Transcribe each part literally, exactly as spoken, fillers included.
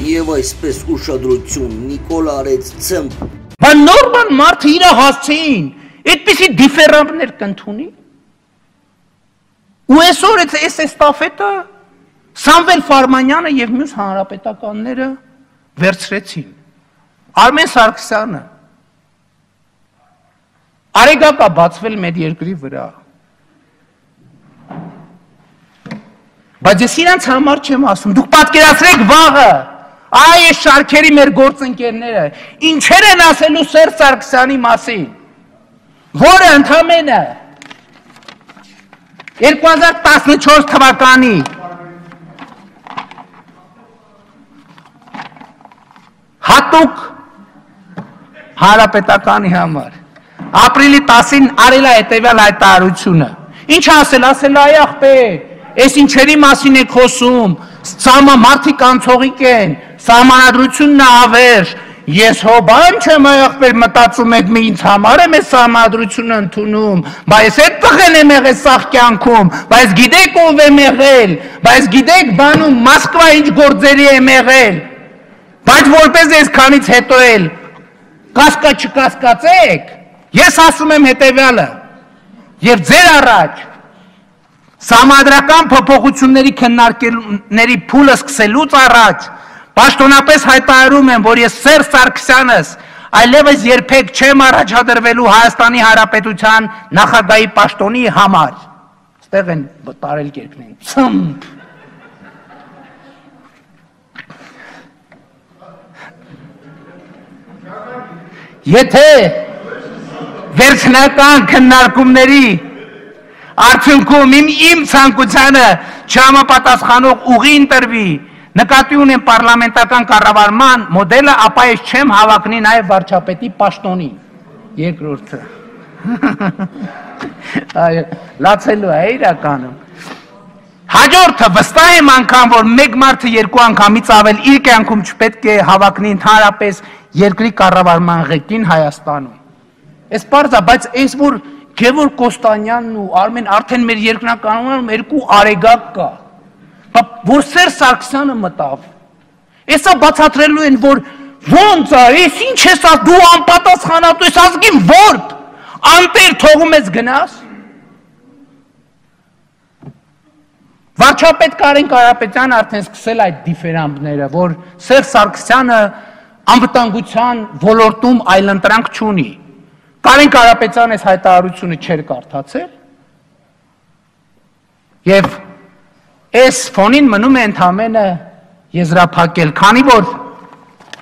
եւ այսպես ուշադրություն Նիկոլ արեց ցմփ։ Բա նորմալ մարդը իր հասցեին, այդպիսի դիֆերանտներ կընդունի։ Ու այսօր այս էստաֆետը Սամվել Ֆարմանյանը եւ մյուս հանրապետականները վերցրեցին։ Արմեն Սարգսյանը արեգակա բացվել մեր երկրի վրա։ Բայց ես իրանց համար չեմ ասում, դուք պատկերացրեք վաղը, այ այս շարքերի մեր գործընկերները ինչեր են ասելու Սերժ Սարգսյանի մասին, որը ընդամենը երկու հազար տասնչորս թվականի հատուկ հանրապետականի համար ապրիլի տասին արել է հետևյալ հայտարարությունը։ Ինչ ասել, ասել այ ախպեր, այս ինչերի մասին եք խոսում, սամա մարդիկ անցողիկ են, սահմանադրությունն է ավերժ, ես հո բան չեմ այ ախպեր մտածում եք մի ինձ համար եմ այս սահմանադրությունը ընդունում, բայց այդ տղեն եմ եղել սաղ կյանքում, բայց գիտեք ով եմ եղել, բայց գիտեք բանում Մոսկվա ինչ գործերի եմ եղել, բայց որպես այսքանից հետո էլ կասկա չկասկածեք, ես ասում եմ հետևյալը, եւ ձեր առաջ սահմանադրական փոփոխությունների քննարկումների փուլը սկսելուց առաջ պաշտոնապես հայտարարում եմ, որ ես Սերժ Սարգսյանս այլևս երբեք չեմ առաջադրվելու Հայաստանի Հանրապետության նախագահի պաշտոնի համար։ Ստեղ են տարել կերպներին, ցմփ։ Եթե վերջնական քննարկումների արդյունքում իմ իմ ցանկությանը չհամապատասխանող ուղի ընտրվի, նկատի ունեմ պարլամենտական կառավարման մոդելը, ապա ես չեմ հավակնի նաև վարչապետի պաշտոնի։ Երկրորդը։ Այո, լացելու է իրականում։ Հաջորդը վստահ եմ անգամ, որ մեկ մարդը երկու անգամից ավել իր կյանքում չպետք է հավակնի ընդհանրապես երկրի կառավարման ղեկին Հայաստանում։ Այս պարզ է, բայց այս որ Գևորգ Կոստանյանն ու Արմեն արդեն մեր երկրնականում երկու արեգակ կա, որ Սերժ Սարգսյանը մտավ։ Էսա բացատրելու են, որ ոնց է, ես ինչ ես ասում, դու անպատասխանատու ես, ազգին որբ, անտեր թողում ես գնաս։ Վարչապետ Կարեն Կարապետյանը արդեն սկսել այդ դիֆերանտները, որ Սերժ Սարգսյանը անվտանգության ոլորտում այլընտրանք չունի։ Կարեն Կարապետյանը այս հայտարարությունը չէր կարդացել եւ այս ֆոնին մնում է ընդամենը եզրափակել, քանի որ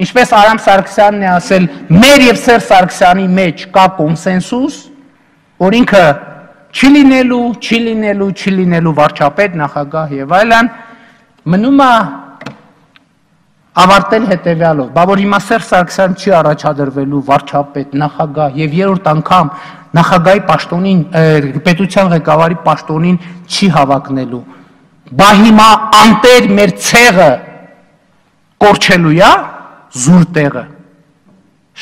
ինչպես Արամ Սարգսյանն է ասել, մեր եւ Սերժ Սարգսյանի մեջ կա կոնսենսուս, որ ինքը չի լինելու, չի լինելու, չի լինելու վարչապետ, նախագահ եւ այլն, մնում է ավարտել հետևյալով, բա որ հիմա Սերժ Սարգսյանը չի առաջադրվելու վարչապետ, նախագահ եւ երրորդ անգամ նախագահի պաշտոնին, պետության ղեկավարի պաշտոնին չի հավակնելու, բա հիմա անտեր մեր ցեղը կորչելու է զուր տեղը։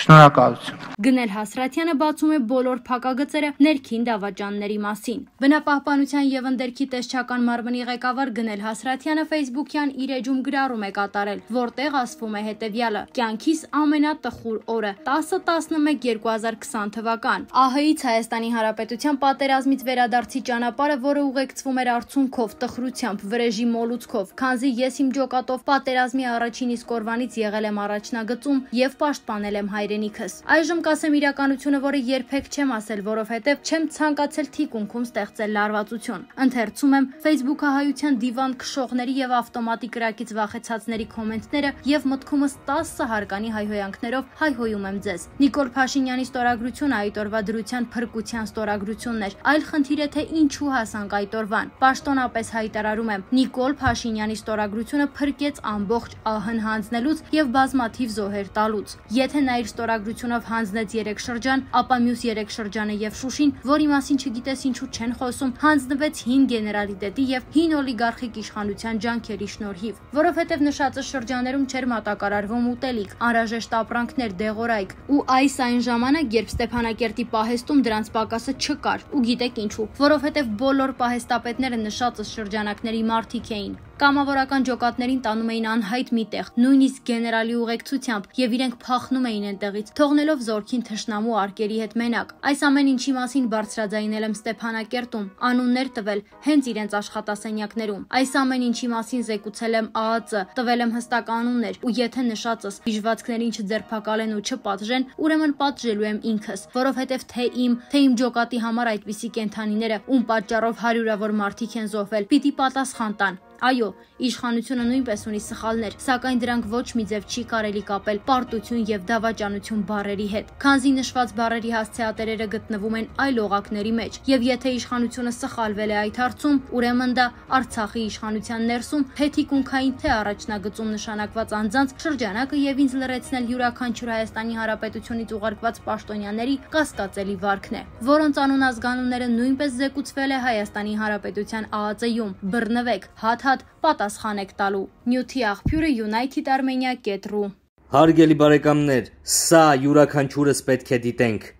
Շնորհակալություն։ Գնել Հասրատյանը բացում է բոլոր փակագծերը ներքին դավաճանների մասին։ Բնապահպանության եւ ընդերքի տեսչական մարմնի ղեկավար Գնել Հասրատյանը Facebook-յան իր էջում գրառում է կատարել, որտեղ ասվում է հետեւյալը. կյանքիս ամենատխուր օրը տասը տասնմեկ երկու հազար քսան թվական։ ԱՀ-ից Հայաստանի Հանրապետության պատերազմից վերադարձի ճանապարհը, որը ուղեկցվում էր արցունքով, տխրությամբ, վրեժի մոլուցքով, քանզի ես իմ ջոկատով պատերազմի առաջին իսկ օրվանից եղել եմ առաջնագծում եւ պաշտպանել եմ հայրենիքս։ Այժմ կասեմ իրականությունը, որը երբեք չեմ ասել, որովհետև չեմ ցանկացել թիկունքում ստեղծել լարվածություն։ Ընթերցում եմ Facebook-ահայության դիվան քշողների եւ ավտոմատի կրակից վախեցածների կոմենտները եւ մտքումս տասը հարկանի հայհոյանքներով հայհոյում եմ ձեզ։ Նիկոլ Փաշինյանի ստորագրությունը այդ օրվա դրության փրկության ստորագրությունն էր, այլ խնդիր է թե ինչու հասանք այդ օրվան։ Պաշտոնապես հայտարարում եմ, Նիկոլ Փաշինյանի ստորագրությունը փրկեց ամբողջ ԱՀ-ն հանձնելուց եւ բազմաթիվ զոհեր տալուց։ Եթե նա իր ստորագրությունով հանձնեց երեք շրջան, ապա մյուս երեք շրջանը եւ Շուշին, որի մասին չգիտես ինչու չեն խոսում, հանձնվեց հին գեներալիտետի եւ հին օլիգարխիկ իշխանության ջանքերի շնորհիվ, որովհետեւ նշածը շրջաներում չէր մատակարարվում ուտելիք, անհրաժեշտ ապրանքներ, դեղորայք, ու այս այն ժամանակ, երբ Ստեփանակերտի պահեստում դրանց պակասը չկար, ու գիտեք ինչու, որովհետեւ բոլոր պահեստապետները նշածը շրջանակների մարդիկ էին։ Կամավորական ջոկատներին տանում էին անհայտ մի տեղ, նույնիսկ գեներալի ուղեկցությամբ, եւ իրենք փախնում էին այնտեղից, թողնելով զորքին թշնամու արկերի հետ մենակ։ Այս ամեն ինչի մասին բարձրաձայնել եմ Ստեփանակերտում, անուններ տվել հենց իրենց աշխատասենյակներում։ Այս ամեն ինչի մասին զեկուցել եմ Ա Ա Ծ, տվել եմ հստակ անուններ, ու եթե նշածս հիշվածքներին չձերբակալեն ու չպատժեն, ուրեմն պատժելու եմ ինքս, որովհետև թե իմ, թե իմ ջոկատի համար այդպիսի կենդանիները, ում պատճառով հարյուրավոր մարդիկ են զոհվել, պիտի պատասխան տան։ Այո, իշխանությունը նույնպես ունի սխալներ, սակայն դրանք ոչ մի ձև չի կարելի կապել պարտություն եւ դավաճանություն բառերի հետ, քանզի նշված բառերի հասցեատերերը գտնվում են այլ օղակների մեջ, եւ եթե իշխանությունը սխալվել է այդ հարցում, ուրեմն դա Արցախի իշխանության ներսում թեթիկունքային թե առաջնագծում նշանակված անձանց շրջանակը եւ ինձ լրացնել յուրաքանչյուր Հայաստանի Հանրապետությունից ուղարկված պաշտոնյաների կասկածելի վարքն է, որոնց անուն ազգանունները նույնպես զեկուցվել է Հայաստանի Հանրապետության Ա Ա Ծ-ում։ Բռնվեք, հատ պատասխան եք տալու։ Նյութի աղբյուրը United Armenia կետ րու։ Հարգելի բարեկամներ, սա յուրաքանչյուրս պետք է դիտենք։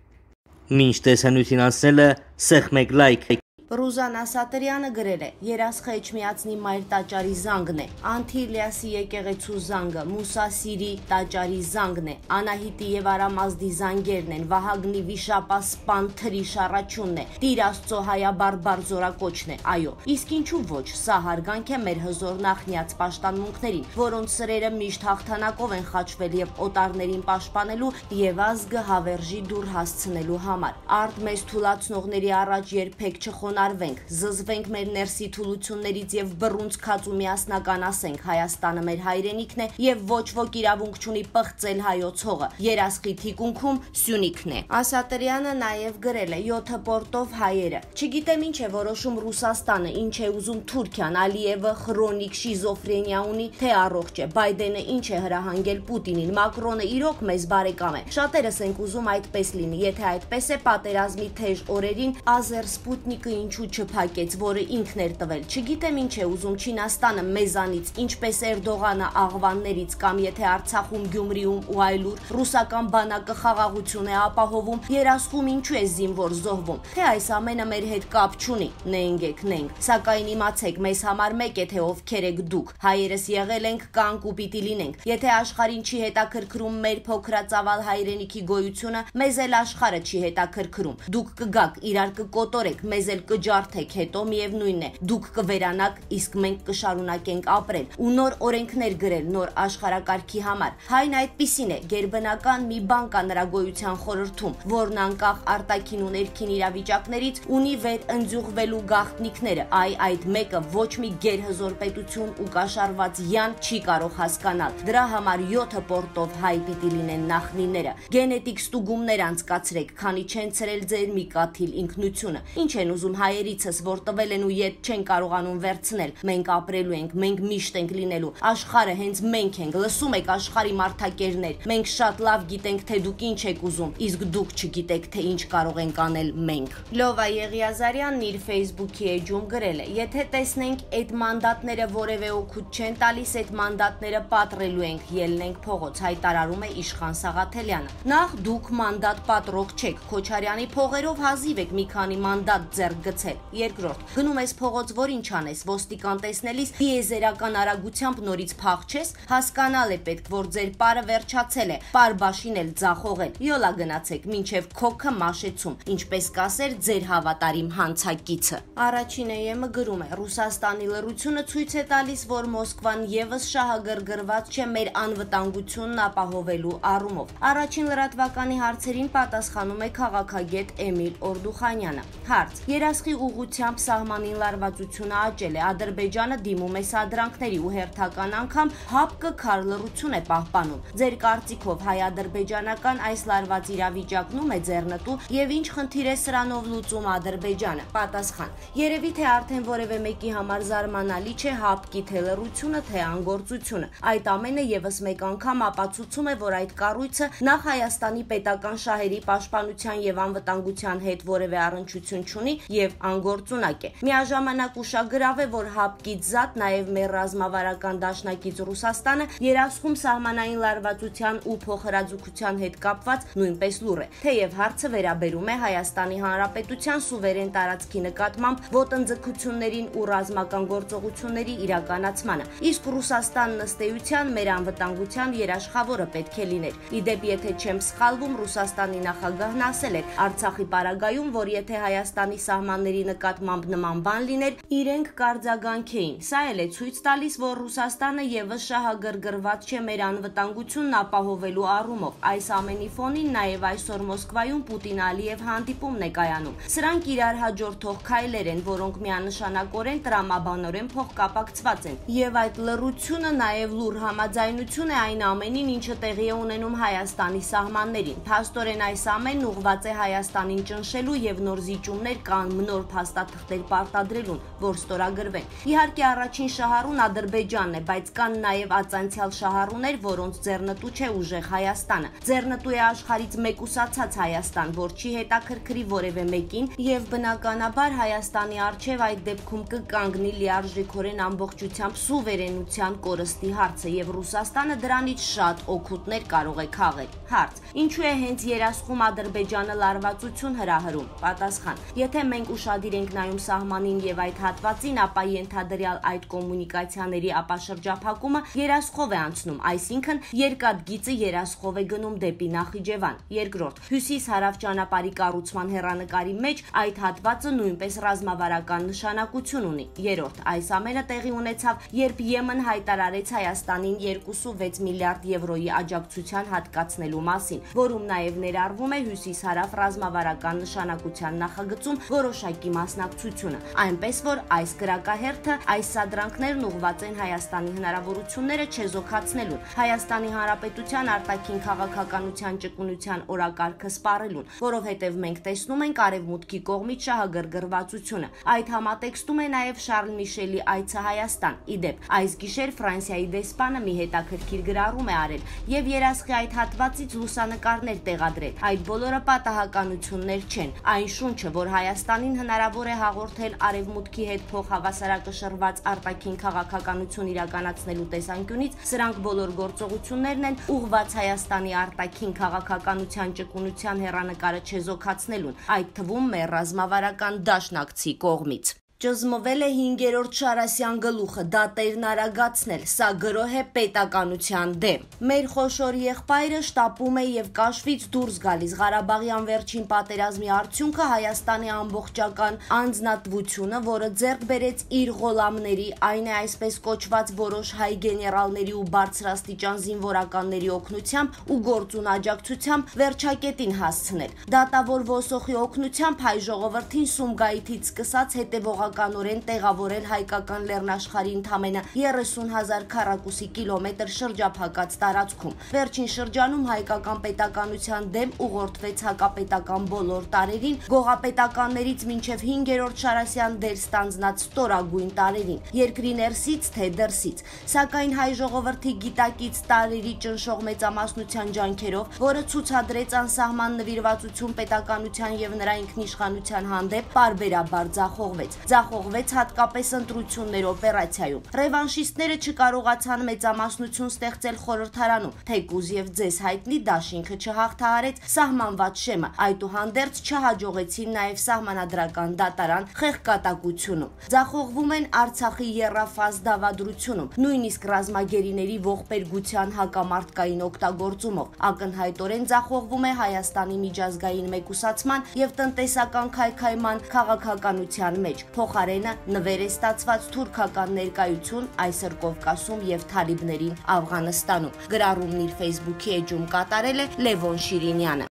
Մինչ տեսանյութին անցնելը սեղմեք լայք։ Ռուզան Ասատրյանը գրել է. երասխը Էջմիածնի մայր տաճարի զանգն է, Անթիլիասի եկեղեցու զանգը, Մուսասիրի տաճարի զանգն է, Անահիտի եւ Արամազդի զանգերն են, Վահագնի վիշապասպան թրի շառաչունն է, Տիր Աստծո հայաբարբար զորակոչն է։ Այո, իսկ ինչու ոչ, սա հարգանք է մեր հզոր նախնյաց պաշտամունքներին, որոնց սրերը միշտ հաղթանակով են խաչվել եւ օտարներին պաշտպանելու եւ ազգը հավերժի դուր հասցնելու համար։ Արդ մեզ թուլացնողների առաջ երբեք չխոն Արվենք, զզվենք մեր ներսի թուլություններից եւ բռունցքած ու միասնականացենք Հայաստանը մեր հայրենիքն է եւ ոչ ոք իրավունք չունի պղծել հայոց հողը։ Երասխի թիկունքում Սյունիքն է։ Ասատրյանը նաեւ գրել է յոթը պորտով հայերը։ Չգիտեմ ինչ է որոշում Ռուսաստանը, ինչ է ուզում Թուրքիան, Ալիևը քրոնիկ շիզոֆրենիա ունի, թե առողջ է, Բայդենը ինչ է հրահանգել Պուտինին, Մակրոնը իրոք մեզ բարեկամ է։ Շատերս ենք ուզում այդպես լինի, եթե այդպես է պատերազմի թեժ օրերին Ազեր Սպուտնիկը ինչու չփակեց, որը ինքն էր տվել։ Չգիտեմ ինչ է ուզում Չինաստանը մեզանից, ինչպես Էրդողանը աղվաններից կամ եթե Արցախում, Գյումրիում ու այլուր ռուսական բանակը խաղաղություն է ապահովում, երասխում ինչու է զինվոր զոհվում։ Թե այս ամենը մեր հետ կապ չունի, նենք եք նենք։ Սակայն իմացեք, մեզ համար մեկ է, թե ովքեր եք դուք։ Հայերս եղել ենք, կանք ու պիտի լինենք։ Եթե աշխարհին չի հետաքրքրում մեր փոքրածավալ հայրենիքի գոյությունը, մեզ էլ աշխարհը չի հետաքրքրում։ Դուք կգաք, իրար կկոտորեք, մեզ էլ կջարդեք, հետո միևնույն է, դուք կվերանաք, իսկ մենք կշարունակենք ապրել ու նոր օրենքներ գրել նոր աշխարհակարգի համար։ Հայն այդպիսին է, գերբնական մի բան կա նրա գոյության խորհրդում, որն անկախ արտաքին ու ներքին իրավիճակներից ունի վեր ընձյուղվելու գաղտնիքները։ Այ այդ մեկը ոչ մի գերհզոր պետություն ու կաշառված յան չի կարող հասկանալ։ Դրա համար յոթը պորտով հայ պիտի լինեն նախնիները։ Գենետիկ ստուգումներ անցկացրեք, քանի չեն ցրել ձեր մի կաթիլ ինքնությունը։ Ինչ են ուզում հայերիցս, որ տվել են ու ետ չեն կարողանում վերցնել։ Մենք ապրելու ենք, մենք միշտ ենք լինելու։ Աշխարհը հենց մենք ենք, լսում եք աշխարհի մարդակերներ։ Մենք շատ լավ գիտենք, թե դուք ինչ եք ուզում, իսկ դուք չգիտեք, թե ինչ կարող ենք անել մենք։ Լովա Եղիազարյանն իր Facebook-ի էջում գրել է. եթե տեսնենք այդ մանդատները որևէ օգուտ չեն տալիս, այդ մանդատները պատռելու ենք, ելնենք փողոց, հայտարարում է Իշխան Սաղաթելյանը։ Նախ դուք մանդատ պատռող չեք, Քոչարյանի փողերով հազիվ եք մի քանի մանդատ ձեռք գցել։ Երկրորդ, գնում ես փողոց, որ ինչ անես, ոստիկան տեսնելիս դիեզերական արագությամբ նորից փախչես, հասկանալ է պետք, որ ձեր պարը վերջացել է, պարբաշին էլ ձախողել։ Յոլա գնացեք, մինչև քոքը մաշեցում, ինչպես կասեր ձեր հավատարիմ հանցակիցը։ Առաջին էեմը գրում է. Ռուսաստանի լռությունը ցույց է տալիս, որ Մոսկվան եւս շահագրգռված չէ մեր անվտանգությունն ապահովելու առումով։ Առաջին լրատվականի հարցերին պատասխանում է քաղաքագետ Էմիլ Օրդուխանյանը։ Հարց. Երասխի ուղղությամբ սահմանին լարվածությունը աճել է, Ադրբեջանը դիմում է սադրանքների ու հերթական անգամ հապկը քար լռություն է պահպանում։ Ձեր կարծիքով հայ-ադրբեջանական այս լարված իրավիճակն է ձեռնտու եւ ինչ խնդիր է սրանով լուծում Ադրբեջանը։ Պատասխան. Երևի թե արդեն որևէ մեկի համար զարմանալի չէ հապկի թե լռությունը, թե անգործությունը։ Այդ ամենը եւս մեկ անգամ ապացուցում է, որ այդ կառույցը նախ Հայաստանի պետական շահերի պաշտպանության եւ անվտանգության հետ որևէ առնչություն չունի եւ եւ անգործունակ է։ Միաժամանակ ուշագրավ է, որ հապկից զատ նաեւ մեր ռազմավարական դաշնակից Ռուսաստանը երասխում սահմանային լարվածության ու փոխհրաձգության հետ կապված նույնպես լուր է, թեև հարցը վերաբերում է Հայաստանի Հանրապետության սուվերեն տարածքի նկատմամբ ոտնձգություններին ու ռազմական գործողությունների իրականացմանը, իսկ Ռուսաստանն ըստ էության մեր անվտանգության երաշխավորը պետք է լիներ։ Իդեպ, եթե չեմ սխալվում, Ռուսաստանի նախագահն ասել է Արցախի պարագայում, որ եթե Հայաստանի սահմանների նկատմամբ նման բան լիներ, իրենք կարձագանքեին։ Սա էլ է ցույց տալիս, որ Ռուսաստանը եւս շահագրգռված չէ մեր անվտանգությունն ապահովելու առումով։ Այս ամենի ֆոնին նաեւ այսօր Մոսկվայում Պուտին-Ալիև հանդիպումն է կայանում։ Սրանք իրար հաջորդող քայլեր են, որոնք միանշանակորեն տրամաբանորեն փոխկապակցված են։ Եվ այդ լռությունը նաեւ լուր համաձայնություն է այն ամենին, ինչը տեղի է ունենում Հայաստանի սահմաններին։ Փաստորեն այս ամենն ուղղված է Հայաստանին ճնշելու եւ նոր զիջումներ կամ նոր փաստաթղթեր պարտադրելուն, որ ստորագրվեն։ Իհարկե առաջին շահառուն Ադրբեջանն է, բայց կան նաեւ ածանցյալ շահառուներ, որոնց ձեռնտու չէ ուժեղ Հայաստանը։ Ձեռնտու է աշխարհից մեկուսացած Հայաստան, որ չի հետաքրքրի որևէ մեկին եւ բնականաբար Հայաստանի արչեւ այդ դեպքում կկանգնի լիարժեքորեն ամբողջությամբ սուվերենության կորստի հարցը եւ Ռուսաստանը դրանից շատ օգուտներ կարող է քաղել։ Հարց. ինչու է հենց երասխում Ադրբեջանը լարվածություն հրահրում։ Պատասխան. եթե մենք ուշադիր ենք նայում սահմանին եւ այդ հատվածին, ապա ենթադրյալ այդ կոմունիկացիաների ապաշրջափակումը երասխով է անցնում, այսինքն երկաթ գիծը երասխով է գնում դեպի Նախիջևան։ Երկրորդ, հյուսիս-հարավ ճանապարհի կառուցման հեռանկարի մեջ այդ հատվածը նույնպես ռազմավարական նշանակություն ունի։ Երրորդ, այս ամենը տեղի ունեցավ, երբ Եմեն հայտարարեց Հայաստանին երկու կόμμα վեց միլիարդ եվրոյի աջակցության հատկացնելու մասին, որում նաև ներառվում է հյուսիս-հարավ ռազմավարական նշանակության նախագծում որոշակի մասնակցությունը։ Այնպես որ այս կրակահերթը, այս սադրանքներն ուղղված են Հայաստանի հնարավորությունները չեզոքացնելուն, Հայաստանի Հանրապետության արտաքին քաղաքականության ճկունության օրակարգը սպառելուն, որովհետև մենք տեսնում ենք արևմուտքի կողմից շահագրգռվածությունը։ Այդ համատեքստում է նաև Շարլ Միշելի այցը Հայաստան։ Իդեպ, այս գիշեր Ֆրանսիայի դեսպանը մի հետաքրքիր գրառում է արել եւ երասխի այդ հատվածից լուսանկարներ տեղադրել։ Այդ բոլորը պատահականություններ չեն։ Այն շունչը, որ Հայաստանին հնարավոր է հաղորդել արևմուտքի հետ փոխհավասարակշռված արտաքին քաղաքականություն իրականացնելու տեսանկյունից, սրանք բոլոր գործողություններն են ուղղված Հայաստանի արտաքին քաղաքականության ճկունության հեռանկարը չեզոքացնելուն, այդ թվում մեր ռազմավարական դաշնակցի կողմից։ Ճզմվել է հինգերորդ Շարասյան գլուխը, դատերն արագացնել, սա գրոհ է պետականության դեմ։ Մեր խոշոր եղբայրը շտապում է եւ կաշվից դուրս գալիս։ Ղարաբաղյան վերջին պատերազմի արդյունքը Հայաստանի ամբողջական անձնատվությունը, որը ձեռք բերեց իր ղոլամների, այն է այսպես կոչված որոշ հայ գեներալների ու բարձրաստիճան զինվորականների օգնությամբ ու գործուն աջակցությամբ վերջակետին հասցնել։ Դատավոր ոսոխի օգնությամբ հայ ժողովրդին Սումգայիթից սկսած հետևող կանորեն տեղավորել հայկական լեռնաշխարհի ընդամենը երեսուն հազար քառակուսի կիլոմետր շրջափակած տարածքում։ Վերջին շրջանում հայկական պետականության դեմ ուղղորդվեց հակապետական բոլոր տարերին, գողապետականներից մինչև հինգերորդ Շարասյան դեր ստանձնած ստորագույն տարերին, երկրի ներսից թե դրսից։ Սակայն հայ ժողովրդի գիտակից տարերի ճնշող մեծամասնության ջանքերով, որը ցուցադրեց անսահման նվիրվածություն պետականության եւ նրա ինքնիշխանության հանդեպ, պարբերաբար ձախողվեց։ Ձախողվեց հատկապես ընտրություններ օպերացիայում։ Ռևանշիստները չկարողացան մեծամասնություն ստեղծել խորհրդարանում, թեկուզ եւ ձեզ հայտնի դաշինքը չհաղթահարեց սահմանված շեմը, այդուհանդերձ չհաջողեցին նաեւ սահմանադրական դատարան խեղկատակությունում։ Ձախողվում են Արցախի եռաֆազ դավադրությունում, նույնիսկ ռազմագերիների ողբերգության հակամարտկային օգտագործումով։ Ակնհայտորեն ձախողվում է Հայաստանի միջազգային մեկուսացման եւ տնտեսական քայքայման քաղաքականության մեջ։ Փոխարենը նվեր է ստացված թուրքական ներկայություն այսօր Կովկասում եւ թալիբներին Աֆղանստանում։ Գրառումն իր Facebook-ի էջում կատարել է Լևոն Շիրինյանը։